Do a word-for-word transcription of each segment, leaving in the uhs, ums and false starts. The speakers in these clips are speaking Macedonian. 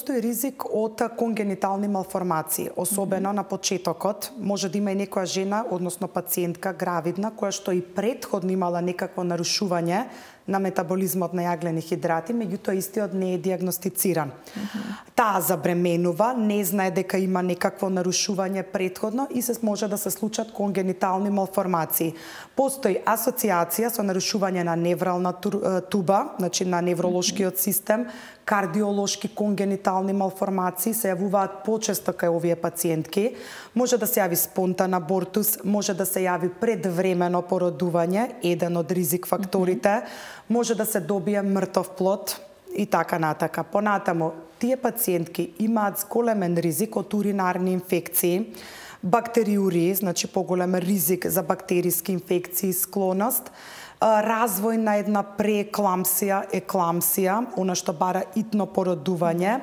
постои ризик од конгенитални малформации, особено mm -hmm. на почетокот. Може да има и некоја жена, односно пациентка гравидна, која што и претходно имала некакво нарушување на метаболизмот на јаглени хидрати, меѓутоа истиот не е диагностициран. Mm -hmm. Таа забременува, не знае дека има некакво нарушување претходно и се може да се случат конгенитални малформации. Постои асоциација со нарушување на неврална туба, значи на невролошкиот систем, кардиолошки конгенитални малформации се јавуваат почесто кај овие пациентки. Може да се јави спонтан абортус, може да се јави предвремено породување, еден од ризик факторите, mm -hmm. може да се добие мртов плод и така натака. Понатамо, тие пациентки имаат големен ризик од уринарни инфекции, бактериури, значи поголем ризик за бактериски инфекции, склоност, развој на една преекламсија, екламсија, она што бара итно породување,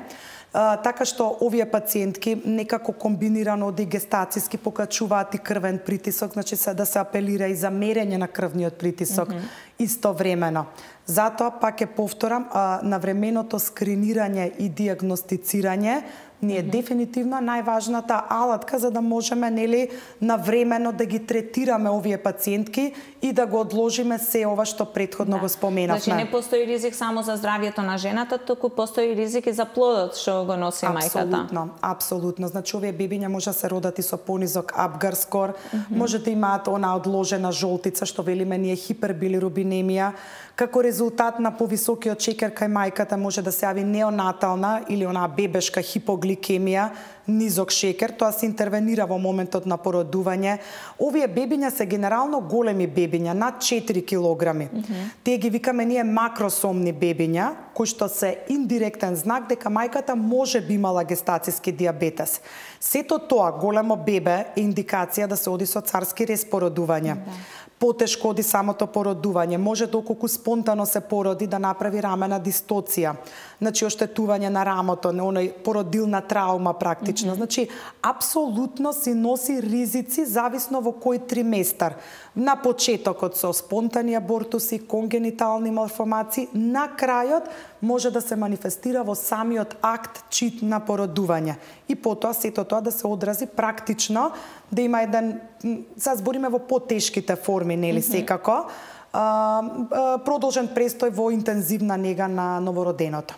така што овие пациентки некако комбинирано од гестацијски покачуваат и крвен притисок, значи се да се апелира и за мерење на крвниот притисок mm -hmm. истовремено. Затоа, пак ќе повторам, навременото скринирање и диагностицирање ни е mm -hmm. дефинитивно најважната алатка за да можеме, нели, навремено да ги третираме овие пациентки и да го одложиме се ова што претходно да. го споменавме. Значи не постои ризик само за здравието на жената, туку постои ризик и за плодот што го носи мајката. Апсолутно, апсолутно. Значи овие бебиња може да се родат и со понизок Апгар скор, mm -hmm. може да имаат она одложена жолтица што велиме ние хипербилирубинемија. Како резултат на повисокиот шекер кај мајката може да се јави неонатална или онаа бебешка хипогликемија, низок шекер, тоа се интервенира во моментот на породување. Овие бебиња се генерално големи бебиња, над четири килограми. Mm -hmm. Тие ги викаме ние макросомни бебиња, кои што се индиректен знак дека мајката може би имала гестацијски диабетес. Сето тоа, големо бебе, е индикација да се оди со царски рез породување. Mm -hmm. Потешко оди самото породување, може доколку спонтано се породи да направи рамена дистоција, значи оштетување на рамото, на оној породилна траума практично. Mm -hmm. Значи, апсолутно си носи ризици зависно во кој триместар. На почетокот со спонтани абортуси, конгенитални малформации, на крајот може да се манифестира во самиот акт чит на породување. И потоа сето тоа да се одрази практично, да има еден, се збориме во потешките форми, нели, mm -hmm. секако, а, а, продолжен престој во интензивна нега на новороденото.